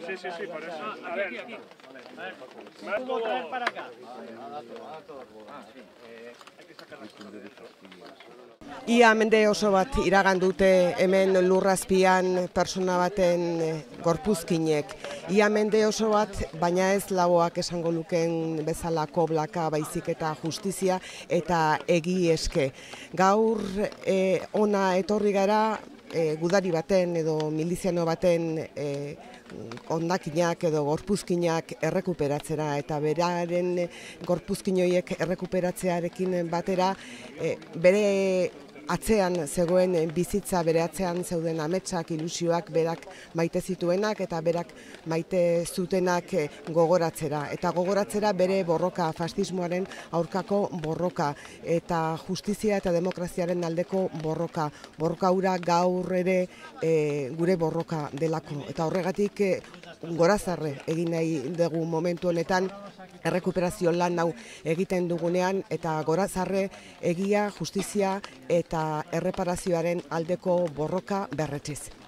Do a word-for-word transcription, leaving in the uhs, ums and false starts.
Sí, sí, sí, por eso. A ver, aquí, aquí. Más ¿Puedo traer para acá? Ia mende oso bat iragan dute hemen lurrazpian persona baten gorpuzkinek. Ia mende oso bat, baina ez lauak esango luken bezala koblaka, baizik eta justizia eta egi eske. Gaur e, ona etorri gara e, gudari baten edo miliziano baten e, hondakinak edo gorpuzkinak errekuperatzera eta beraren gorpuzkin horiek errekuperatzearekin batera e, bere atzean zegoen bizitza, bere atzean zeuden ametsak, ilusioak berak maite zituenak eta berak maite zutenak gogoratzera. Eta gogoratzera bere borroka, fascismoaren aurkako borroka eta justizia eta demokraziaren aldeko borroka. Borroka hura gaur ere e, gure borroka delako. Eta horregatik e, gorazarre egin nahi dugu momentu honetan errekuperazio lan hau egiten dugunean eta gorazarre egia, justizia eta erreparazioaren aldeko borroka berretsiz.